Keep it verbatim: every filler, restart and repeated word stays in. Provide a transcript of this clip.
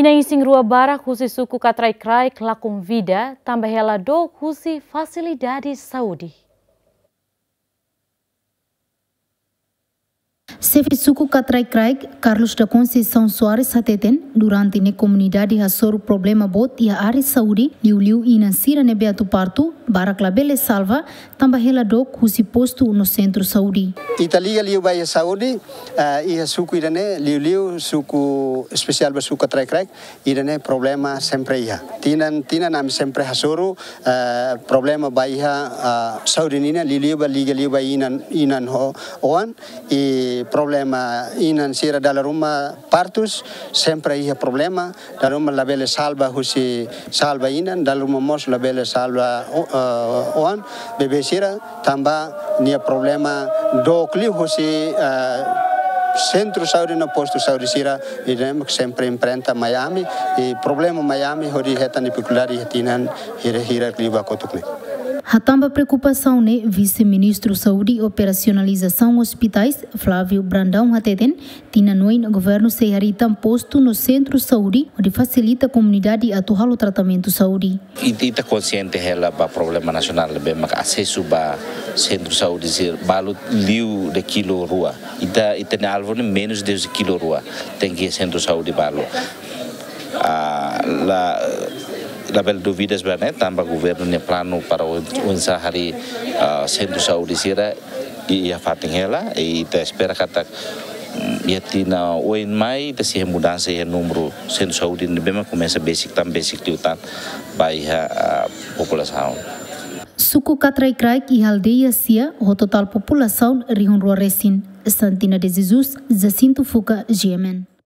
Isin rua barak husi suku Katraikraik la konvida, tanba hela dook husi fasilidade saúde. Xefe suku Katraikraik, Carlos da Conceição Soares hateten, durante ne'e komunidade hasoru problema boot iha área saúde, liuliu inan sira ne'ebé atu partu, barak labele salva, tanba hela dook husi postu no sentru saúde. Ita liga liu ba iha saúde, eh, iha suku ida-ne'e, liuliu suku espesiál ba suku Katraikraik, ida-ne'e problema sempre iha. Tinan, tinan ami sempre hasoru, eh, problema ba iha, ah, saúde nian, liuliu ba liga liu ba inan, inan ho oan, i problema inan sira dala ruma partus, sempre iha problema, dala ruma labele salva husi salva inan, dala ruma mós labele salva o-, eh, oan, bebé sira, tanba nia problema dook liu husi, eh, sentru saúde no postu saúde sira, ida-ne'e mak sempre enfrenta mai ami, i problema mai ami hodi hetan difikuldade iha tinan hira-hira liu ba kotuk ne'e. Hatán ba preokupasaun ne'e, Vise-Ministru Saúde i Operasionalizasaun Ospitais, Flávio Brandão hateten, tinan oin governu sei harii tan postu no sentru saúde, hodi fasilita komunidade atu halo tratamentu saúde. Ita, ita konsiente hela ba problema nasionál ne'ebé maka asesu ba sentru saúde sira balu liu de kilo rua. Ita, ita-nia alvu ne'e menus de kilo rua. Tenke sentru saúde balu. Ah, la, labele dúvidas ba ne'e, tanba governu nia planu para oin-, oinsá harii, ah, sentru saúde sira i, iha fatin hela, i ita espera katak, mm, iha tinan oin mai, ita sei iha mudansa iha númeru sentru saúde ne'ebé mak komesa besik tan, besik liután ba iha, ah, populasaun. Suku Katraikraik iha aldeia sia, ho totál populasaun rihun rua resin. Santina de Jesus, Jacinto Fuca, G M N.